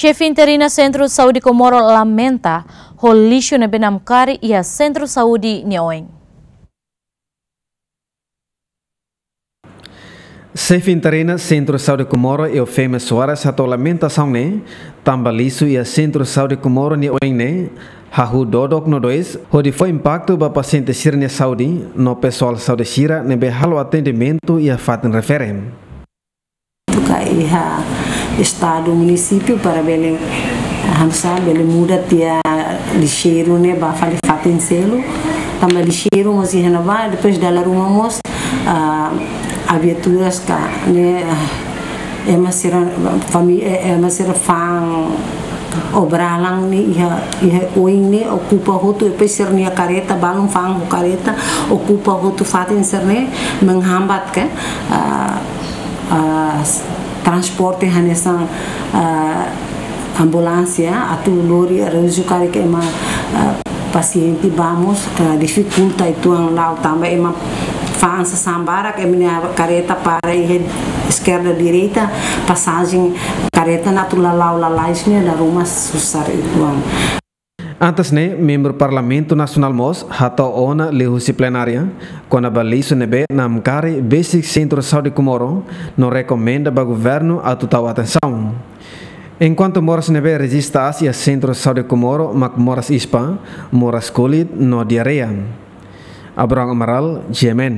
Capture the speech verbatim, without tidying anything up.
Xefe interina Sentru Saúde Comoro lamenta ho lixu ne'ebé namkari iha Sentru Saúde nia oin. Xefe interina Sentru Saúde Comoro, Eufemia Soares, hato'o lamentasaun ne'e tanba lixu iha Sentru Saúde Comoro nia oin ne'e hahú dodok no dois, hodi fó impaktu ba pasiente sira-nia saúde no pesoál saúde sira ne'ebé halo atendimentu iha fatin refere. Tuka iha estadu, munisípiu para bele, ah, hamsa bele muda tiha lixeiru ne'e ba fali fatin seluk. Tanba lixeiru mós iha ne'ebá, depois dala ruma mós, ah, viaturas ka ne'e, ah, ema sira fami-, eh, ema sira fa'an obralan ne'e iha, iha oin ne'e okupa hotu, depois sira-nia kareta, balun fa'an ho kareta, okupa hotu fatin sira-ne'e, menghambat ke, ah, ah, s-, transporte hanesan, ah, ambulánsia, atu lori arranju karik ema, ah, pasiente ba mós, ah, difikulta uitoan la'o tanba ema fa'an sasán barak, ema-nia kareta para iha eskerda direita, pasajen kareta ne'e atu lala'o lalais ne'e dala ruma susar uitoan. Antes ne'e, membru Parlamentu Nasionál mós hato'o ona liuhusi plenária kona-ba lixu ne'ebé namkari besik Sentru Saúde Comoro no rekomenda ba governu atu tau atensaun. Enkuantu moras ne'ebé rejista aas iha Sentru Saúde Comoro mak moras ispa, moras kulit no diarreia. Abraham Amaral, G M N.